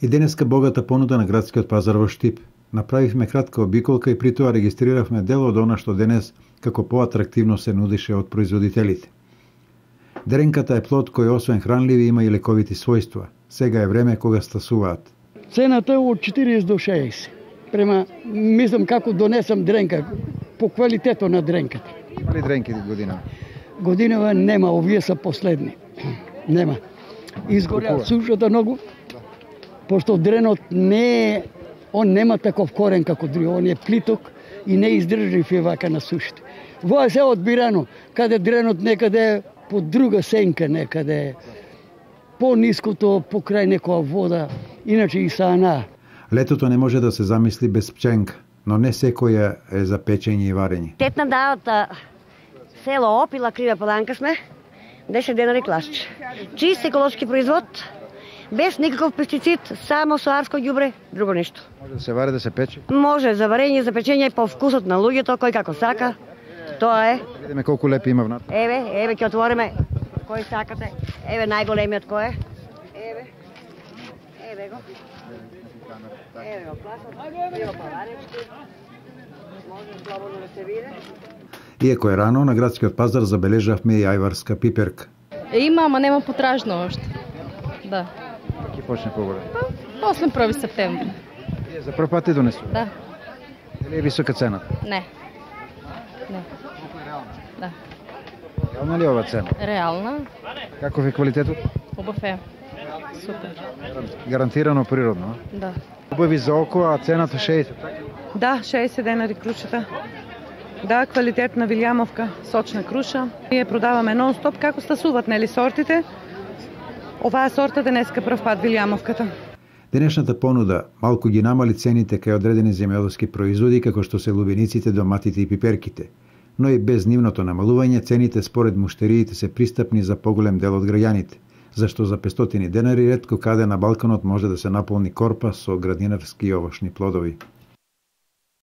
И денеска богата понуда на градскиот пазар во Штип. Направивме кратка обиколка и при тоа регистриравме дел од она што денес како поатрактивно се нудише од производителите. Дренката е плод кој освен хранливи има и лековити својства. Сега е време кога стасуваат. Цената е од 40 до 60. Према, мислам како донесам дренка, по квалитето на дренката. Има ли дренки година? Годинава нема, овие се последни. Нема. Изгорја сушата многу, пошто дренот не е, он нема таков корен како други, он е плиток и не издржлив е вака на сушите. Во е се одбирано, каде дренот некаде по друга сенка, некаде по-ниското покрај некоја вода, иначе и саана. Летото не може да се замисли без пченка, но не секоја е за печење и варење. Тетна да од село Опила, Крива Поланка сме, 10 денари класче. Чист еколошки производ, без никаков пестицид, само со арско ѓубре, друго ништо. Може да се вари, да се пече? Може за варење, за печење по вкусот на луѓето, кој како сака. Тоа е. Видиме колку лепи има внатре. Еве ќе отвориме. Кој сакате? Еве најголемиот кој е? Еве го. Еве го пласот. Еве паларечки. Може слободно да се види. Иако е рано, на градскиот пазар забележавме и ајварска пиперка. Има, ама нема потражно уште. Да. Ќе почне поголем. После 1 септември. Вие за прв пат и донесу? Да. Дали е висока цена? Не. Не. Да. Реална ли е ова цена? Реална. Каков е квалитетот? Убав е. Супер. Гарантирано природно, а? Да. Убави за око, а цената 60. Да, 60 денари крушата. Да, квалитетна Вилјамовка, сочна круша. Ние продаваме нон-стоп како стасуваат нели сортите. Оваа сорта денеска прв пат Вилјамовката. Денешната понуда малку ги намали цените кај одредени земјоделски производи како што се лубениците, доматите и пиперките. Но и без нивното намалување цените според муштериите се пристапни за поголем дел од граѓаните, зашто за 500 денари ретко каде на Балканот може да се наполни корпа со градинарски и овошни плодови.